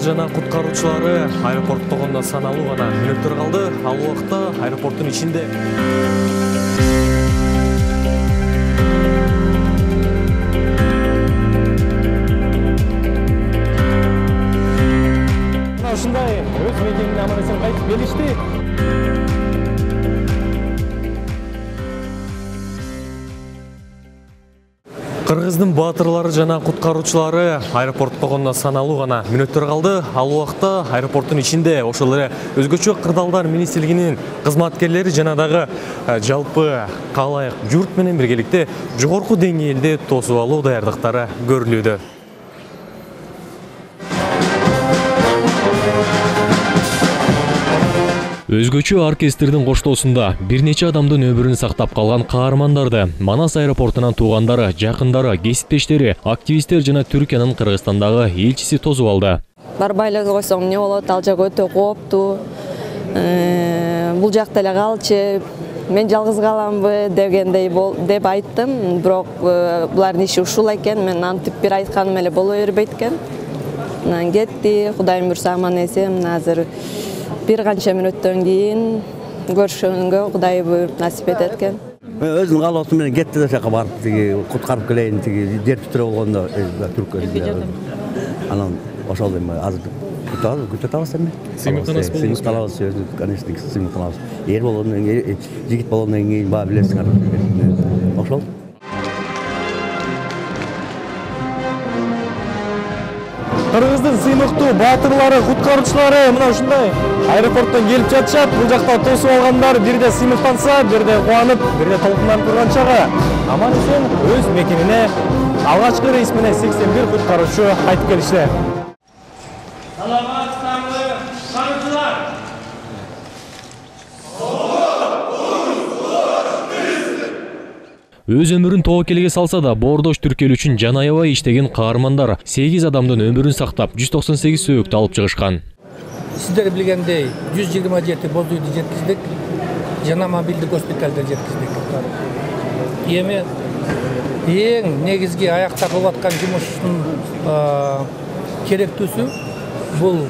жана куткаруучулары аэропортто гана саналуу гана мүнөттөр калды. Ал убакта аэропорттун ичинде ушундай өз мекенин аман-эсен кайтып келишти. Кыргыздын баатырлары жана куткаруучулары аэропортто гана саналуу гана мүнөттөр калды. Ал убакта аэропорттун ичинде ошол эле өзгөчө кырдаалдар министрлигинин кызматкерлери жана дагы жалпы калайык журт менен биргеликте жогорку деңгээлде тосуп алуу даярдыктары көрүлүүдө. Өзгөчө оркестрдин коштоосунда бир нече адамдын өмүрүн сактап калган каармандарды Манас аэропортунан туугандары, жакындары, кесиптештери, активисттер жана Түркиянын Кыргызстандагы элчиси тосуп алды. Барбай эле койсоң эмне болот? Ал жак өтө кооптуу. Бул жакта эле калчы. Мен жалгыз каламбы дегендей деп айттым. Бирок булардын иши ушул экен. Мен антип бир айтканым эле боло бербейт экен. Анан кетти. Кудайым буйрса аман-эсен азыр бир канча мүнөттөн кийин көрүшкөнгө Кудай буйруп насип этет экен. Өзүнүн каалоосу менен кетти да жака барып тиги куткарып келейин тиги жер титирөө болгондо Түркия. Анан ошол эми азыр күтүп атабыз эми. Сыймык калабыз, конечно, сыймык калабыз. Эр болгондон кийин, жигит болгондон кийин баа билесиңер. Ошол. Кыргыздын сыймыктуу баатырлары, куткаруучулары мына ушундай аэропорттон келип жатышат. Бул жакта тосуп алгандар бирде сыймыктанса, бирде кубанып, бирде толкунданып турган чагы аман-эсен өз мекенине алгачкы рейс менен 81 куткаруучу кайтып келишти. Саламатсыздарбы, куткаруучулар? Өз өмүрүн тобокелге салса да, боордош түркөл үчүн жан аябай иштеген каармандар 8 адамдын өмүрүн сактап, 198 сөөктү алып чыгышкан. Сиздер билгендей 127 боз үйдү жеткиздик, жана мобилдик госпиталды жеткиздик. Эми эң негизги аякта кылып аткан жумуштун керектүүсү бул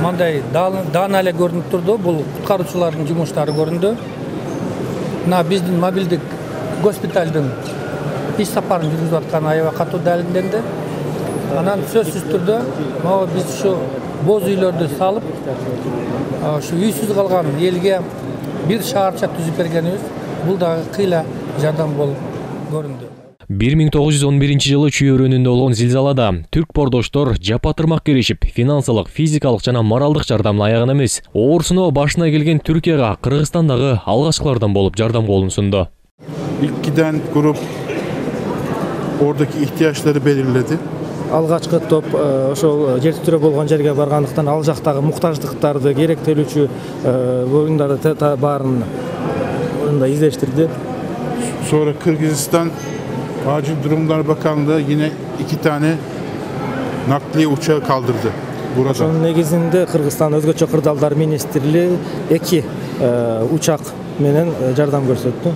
мындай даана эле көрүнүп турду. Бул куткаруучулардын жумуштары көрүндү. Мына биздин мобилдик госпиталдын иш сапарын жүргүзүп аткан аябай катуу далилденди. Анан сөзсүз түрдө биз ушу боз үйлөрдү салып, ушу үйсүз калган элге бир шаарча түзүп бергенибиз бул дагы кыйла жардам болуп көрүндү. 1911 жылы чүйөрөнүндө болгон зилзалада түрк боордоштор жапа-тырмак киришип, финансылык, физикалык жана моралдык жардамын аягына эмес, оорусуна башына келген Түркияга Кыргызстандагы алгачкылардан болуп жардам колун сунду. İlkiden grup oradaki ihtiyaçları belirledi. Алгачкы топ ошол жер титирөө болгон жерге баргандыктан ал жактагы муктаждыктарды, керектелүүчү буюмдарды баарын издештирди. Sonra Kırgızistan Acil Durumlar Bakanlığı yine 2 tane nakliye uçağı kaldırdı burada. Ошонун негизинде Кыргызстан өзгөчө кырдаалдар министрлиги 2 учак менен жардам көрсөттү.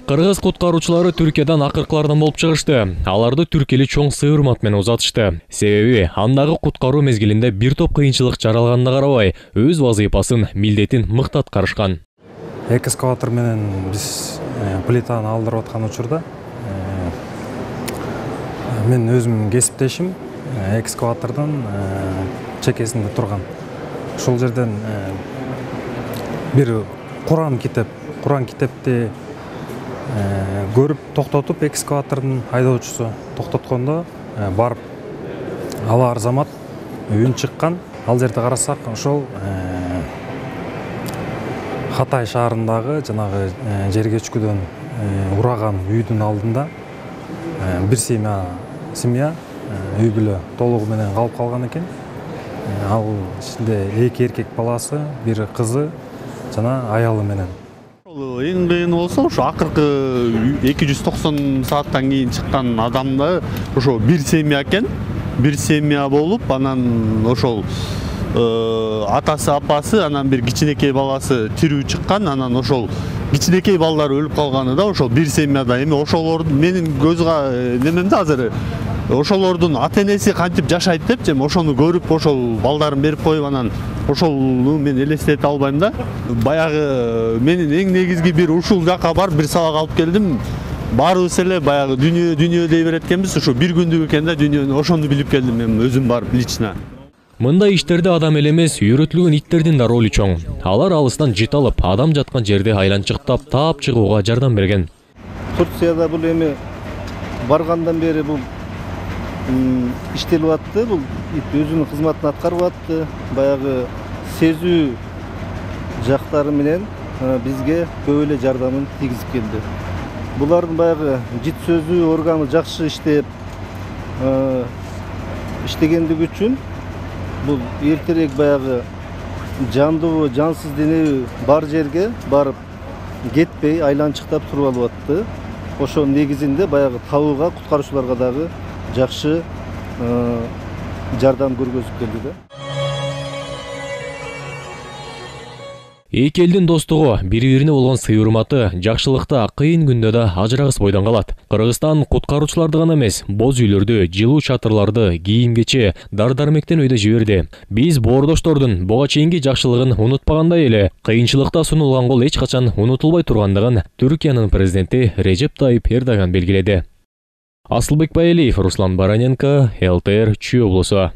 Кыргыз куткаруучулары Түркиядан акыркылардан болуп чыгышты. Аларды түркели чоң сый-урмат менен узатышты. Себеби андагы куткаруу мезгилинде бир топ кыйынчылык жаралганына карабай, өз вазыйпасын, милдетин мыкты аткарышкан. Экскаватор менен биз плитаны алдырып аткан учурда мен өзүмдүн кесиптешим экскаватордун чекесинде турган. Ошол жерден бир Куран китепти көрүп токтотуп, экскаватордун айдоочусу токтоткондо барып ал арзамат үн чыккан. Ал жерде карасак, ошол Хатай шаарындагы жанагы жер көчкүдөн ураган үйдүн алдында бир семья үй бүлө толугу менен калып калган экен. Ал ичинде 2 эркек баласы, бир кызы жана аялы менен. Эң кыйыны болсо ошо акыркы 290 сааттан кийин чыккан адамда ошо бир семья экен. Бир семья болуп, анан ошол атасы, апасы, анан бир кичинекей баласы тирүү чыккан. Анан ошол кичинекей балдар өлүп калганы да ошол бир семьяда. Эми ошолордун менин көз немемде азыр ошолордун ата энеси кантип жашайт депчи, ошону көрүп ошол балдарын берип коюп анан ошону мен элестете албайм да. Баягы менин эң негизги бир ушул жакка барып бир сабак алып келдим. Баарыбыз эле баягы дүнүйө дей берет экенбиз, ошо бир күндүк экен да дүнүйөнү, ошону билип келдим мен өзүм барып лично. Мындай иштерде адам эле эмес, үйрөтүлгөн иттердин да ролу чоң. Алар алыстан жит алып, адам жаткан жерде айланчыктап таап чыгууга жардам берген. Турцияда бул эми баргандан бери бул иштелип атты, бул ит өзүнүн кызматын аткарып атты. Баягы сезүү жактары менен бизге көп эле жардамын тийгизип келди. Булардын баягы жит сөзүү органы жакшы иштеп иштегендиги үчүн бул эртерээк баягы жандуу, жансыз денеби бар жерге барып кетпей айланчыктап туруп алып атты. Ошонун негизинде баягы табууга куткаруучуларга дагы жакшы жардам көргөзүп келди да. Эки элдин достугу, бири-бирине болгон сый урматы жакшылыкта кыйын күндө да ажырагыс бойдон калат. Кыргызстан куткаруучуларды гана эмес, боз үйлөрдү, жылуу чатырларды, кийим-кече, дар-дармектен өйдө жиберди. Биз боордоштордун буга чейинки жакшылыгын унутпагандай эле, кыйынчылыкта сунулган кол эч качан унутулбай тургандыгын Түркиянын президенти Режеп Тайип Эрдоган белгиледи. Асылбек Байалиев, Руслан Бараненко, ЛТР Чүй облусу.